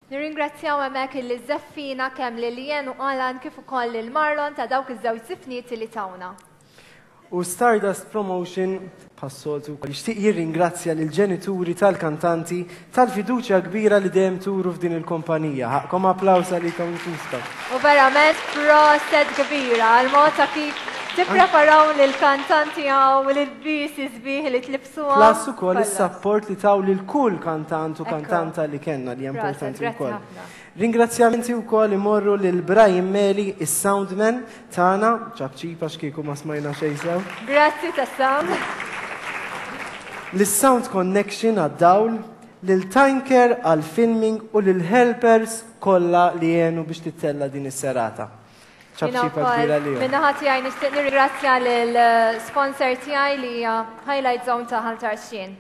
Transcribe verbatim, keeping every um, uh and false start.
Nirringrazzjaw hemmhekk il-żeffina kemm lil Lien u Alan kif ukoll lil Marlon ta' dawk iż-żewġ żifniet li tawna. U Stardust Promotion bħas-soltu jixtieq jirringrazzja lil ġenituri tal-kantanti tal-fiduċja kbira li dejjem turu f'din il-kumpanija. Ħaqqkom applaws għalikom infuskom. U verament proset kbira għal mod ta' kif tippreparaw lill-kantanti hawn u l-ilbiesi sbieħ li tlibsuhom. Plus ukoll is-support li taw lil kull kantant u kantanta li kellna, li importanti wkoll. Ringrazzjamenti wkoll imorru lil Brian Meli, is-soundman tagħna, ċapċipa x'kieku ma smajna xejn sew. Grazzi tas-sound. Lis-Sound Connection għad-dawl, lil Tanker għal-filming u lil helpers kollha li jenu biex tittella din is-serata. ċapċipa kbira li. Min-naħa tiegħi nixtieq nirringrazzja lil sponsor tiegħi li hija Highlight Zone ta' Ħal Tarxien.